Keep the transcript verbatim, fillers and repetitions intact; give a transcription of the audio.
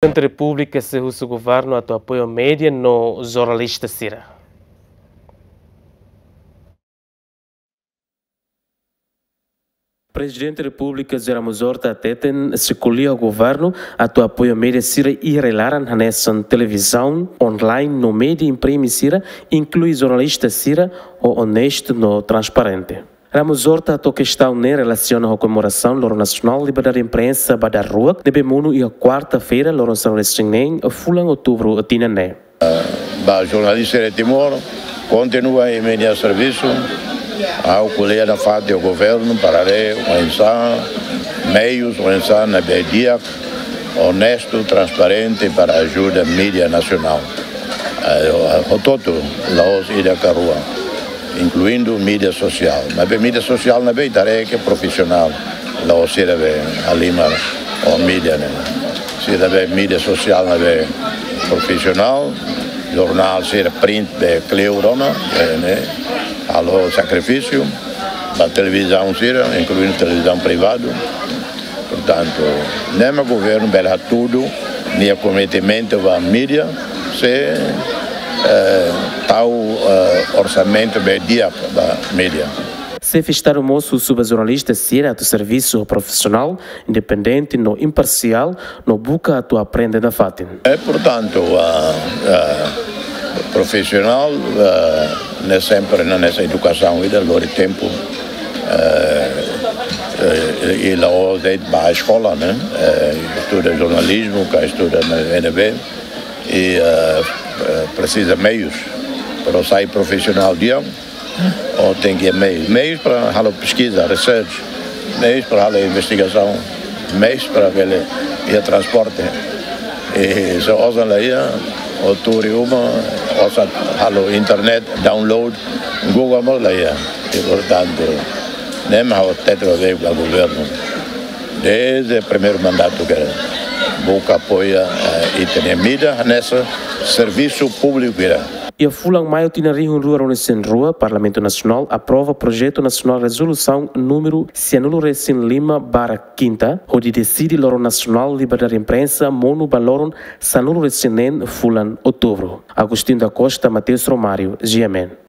Prezidente Repúblika sei husu governu atu apoia média no jornalista sira. Prezidente Repúblika José Ramos Horta hateten sei ko'alia ho governu atu apoia média sira iha rai-laran hanesan televizaun, online no média imprime sira, inklui jornalista sira, ho onestu no transparente. Ramos Horta hato'o kestaun ne'e relasiona ho komemorasaun Loron Nasionál Liberdade Imprensa ba daruak ne'ebé monu iha kuarta-feira, loron sanulu-resin-neen, fulan outubru tinan ne'e. Ba jornalista de Timor, kontinua iha imi-nia servisu, ha'u ko'alia nafatin ho governu para haree oinsá meius, oinsá ne'ebé di'ak, onestu, transparente para ajuda média nasionál. Eh, hotu-hotu, la'ós ida ka rua, inkluindu média sosiál. Maibé média sosiál ne'ebé ita haree ke profisionál, la'ós sira be halimar ho média ne'e. Sira be média sosiál ne'ebé profisionál, jornál sira print be kleur ona, eh, ne'e, halo sakrifísiu, ba televizaun sira, inkluindu televizaun privadu. Portantu, ne'e mak governu bele hatudu nia komprometementu ba média, sei, eh, tau, eh, orsamentu be di'ak ba média. Xefe Estadu mós husu ba jornalista sira atu servisu profisionál, independente no imparsiál, no buka atu aprende nafatin. Eh, portantu, ah, ah, profisionál, ah, ne'e sempre hanesan edukasaun ida lori tempu, eh, eh, i la'ós de'it ba eskola, ne'e? Eh, estuda jornalizmu, ka estuda na U N B, i, eh, eh, presiza meius para sai profisionál di'ak, ó tenke meius, meius para halo peskiza, research, meius para halo investigasaun, meius para bele iha transporte. I se osan la iha, ó tuur iha uma, osan halo internet, download, Google mós la iha. I portantu, ne'e mak ha'u hatete ba governu, dezde primeiru mandatu ke buka apoia, eh, ita-nia média hanesan servisu públiku ida. Iha fulan Maiu tinan rihun rua ruanulu-resin-rua, Parlamentu Nasionál aprova Projetu Nasionál Rezolusaun númeru sanulu-resin-lima barra kinta, hodi deside Loron Nasionál Liberdade Imprensa monu ba loron sanulu-resin-neen fulan Outubru. Agostinho da Costa, Mateus Romário, G M N.